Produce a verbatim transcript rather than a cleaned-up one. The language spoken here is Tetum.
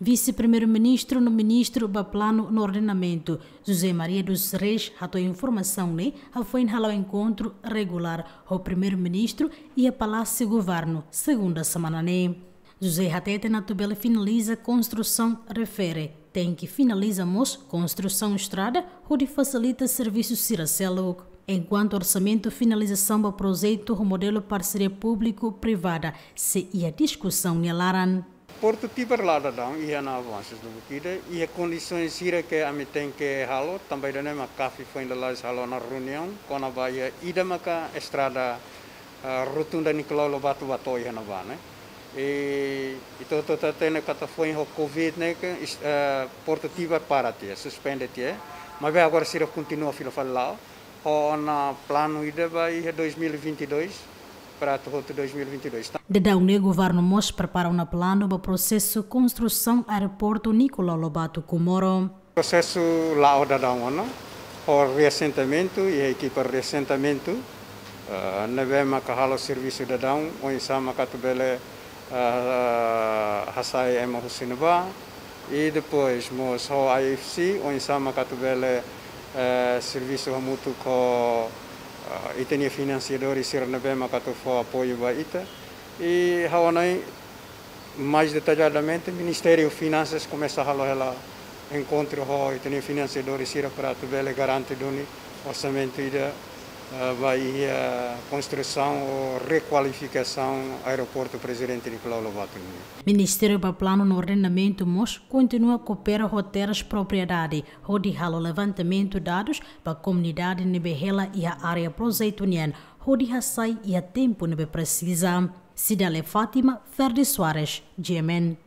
Vise-Primeiru-Ministru no Ministru ba Planu no Ordenamentu, José Maria dos Reis, hato'o informasaun ne'e hafoin hala'o enkontru regulár ho Primeiru-Ministru iha Palásiu Governu, segunda semana ne'e. José hateten atu bele finaliza konstrusaun refere, tenke finaliza mós konstrusaun estrada hodi fasilita servisu sira seluk. Enkuantu orsamentu finalizasaun ba projetu ho modelu parseria públiku-privada sei iha diskusaun nia laran. Portu Tibar la'o daudaun iha ona avansu duni ida, iha kondisaun sira ke ami tenke halo, tanba ida-ne'e mak CAF foin lalais halo ona reuniaun, kona-ba iha ida maka estrada, ah, rotunda Nicolau Lobato ba to'o iha ne'ebá ne'e. I, i ita hotu hatene katak foin ho covid ne'e ke is-, ah, Portu Tibar para tiha, suspende tiha. Maibé agora sira kontinua fila fali la'o, ho ona planu ida ba iha dois mil e vinte e dois, para atu hotu dois mil e vinte e dois. Daudaun ne'e governu mós prepara ona planu ba prosesu konstrusaun aeroportu Nicolau Lobato Comoro. Prosesu la'o daudaun ona, ho reasentamentu, iha ekipa reasentamentu, eh, ne'ebé maka halo servisu daudaun, oinsá maka atu bele, eh, hasai ema husi ne'ebá, i depois mós ho I F C, oinsá maka atu bele, eh, servisu hamutuk ho, eh, ita-nia finansiadór sira ne'ebé maka atu fó apoiu ba ita. I ha'u hanoin mais detalladamente, Ministériu Finansas komesa halo hela enkontru ho ita-nia finansiadór sira para atu bele garante duni orsamentu ida, eh, ba iha konstrusaun ou rekualifikasaun Aeroportu Prezidente Nicolau Lobato nian. Ministériu ba Planu no Ordenamentu mós kontinua koopera ho Terras Propriedade, hodi halo levantamentu dadus ba komunidade ne'ebé hela iha área projetu nian, hodi hasai iha tempu ne'ebé presiza. Cidália Fátima, Ferdi Soares, G M N.